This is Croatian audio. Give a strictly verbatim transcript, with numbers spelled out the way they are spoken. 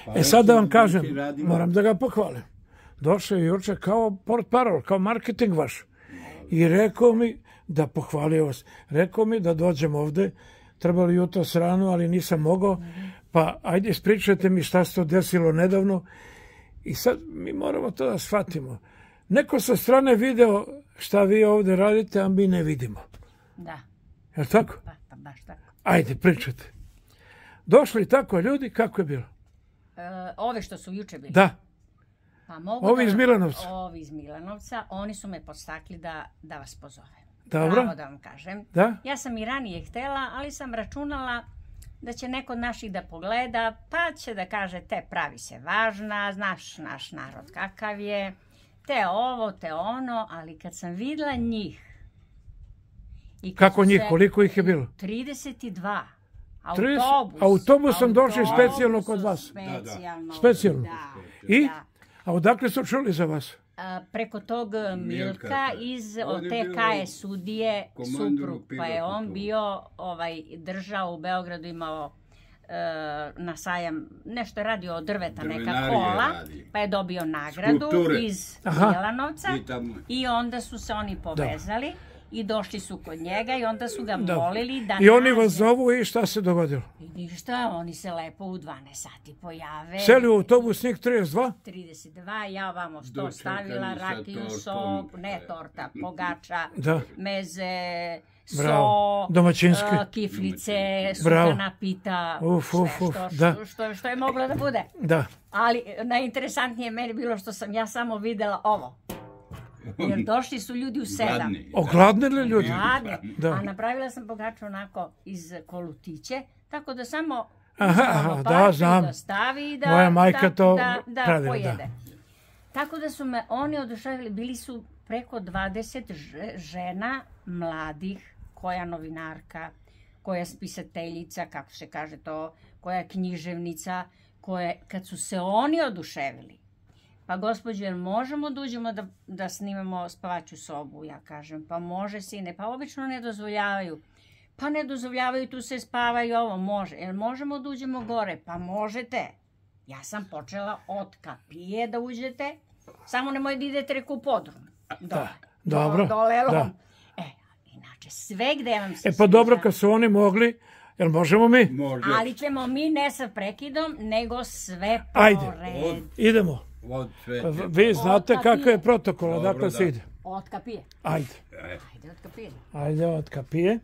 E sad da vam kažem, moram da ga pohvalim. Došao je juče kao portparol, kao marketing vaš. I rekao mi da pohvalio vas. Rekao mi da dođem ovde, trebali jutro s ranu, ali nisam mogao. Pa ajde ispričajte mi šta se to desilo nedavno. I sad mi moramo to da shvatimo. Neko sa strane video šta vi ovde radite, a mi ne vidimo. Da. Je li tako? Pa, pa baš tako. Ajde, pričajte. Došli tako ljudi, kako je bilo? E, ove što su juče bili? Da. Pa mogu Ovi da- iz Milanovca? Ovi iz Milanovca, oni su me podstakli da, da vas pozovem. Dobro. Pravo da vam kažem. Da? Ja sam i ranije htela, ali sam računala da će neko od naših da pogleda, pa će da kaže te pravi se važna, znaš naš narod kakav je, te ovo, te ono, ali kad sam videla njih... i kad Kako su njih? se- Koliko ih je bilo? trideset dva. trideset Autobus. autobusom došli Autobusom specijalno kod vas? Specijalno. Specijalno. Da. I? Da. A odakle su čuli za vas? A, preko tog Milka da. iz On od je te bio Kaje sudije komandor suprug, u pa je pilotu on tu. bio ovaj, držao u Beogradu, imao e, na sajam, nešto je radio od drveta, neka Drvenarije kola, radi. pa je dobio nagradu Skulpture. iz Aha. Milanovca I tamo- i onda su se oni povezali i došli su kod njega i onda su ga Da. molili da I oni nađe- vas zovu i šta se dogodilo? I ništa, oni se lepo u dvanaest sati pojave. Seli u autobus njih trideset dva? trideset dva, ja vamo sto Dočekani stavila, sa rakiju, tortom. sok, ne torta, pogača, Da. meze, Bravo. so, Domaćinski. a, kiflice, Bravo. sukana pita, Uf, uf, sve uf, što, da. što, što, što je moglo da bude. Da. Ali najinteresantnije meni bilo što sam ja samo videla ovo. Jer došli su ljudi u sedam. Gladni. Ogladnili ljudi? Gladni. Da. A napravila sam pogaču onako iz kolutiće, tako da samo Aha, uzme aha, lopatu da, znam. da stavi i da, Moja majka da, to da, da pravila, pojede. da. Tako da su me oni oduševili, bili su preko dvadeset ž- žena mladih, koja novinarka, koja spisateljica, kako se kaže to, koja je književnica, koje, kad su se oni oduševili, pa gospođo, jel možemo da uđemo da, da snimamo spavaću sobu? Ja kažem, pa može sine, pa obično ne dozvoljavaju. Pa ne dozvoljavaju, tu se spava i ovo, može. Jel možemo da uđemo gore? Pa možete. Ja sam počela od kapije da uđete, samo nemoj da idete reku u podrum. Dole. dobro, Dole, da. lom. E, inače, sve gde vam se E pa dobro, sviđa, kad su oni mogli, jel možemo mi? Može. ali ćemo mi ne sa prekidom, nego sve po Ajde. redu. Idemo. Od sve. Pa vi znate Od kakav je kapije. protokol, Dobro, odakle se da. ide. Od kapije. Ajde. Ajde, od kapije. Ajde od kapije.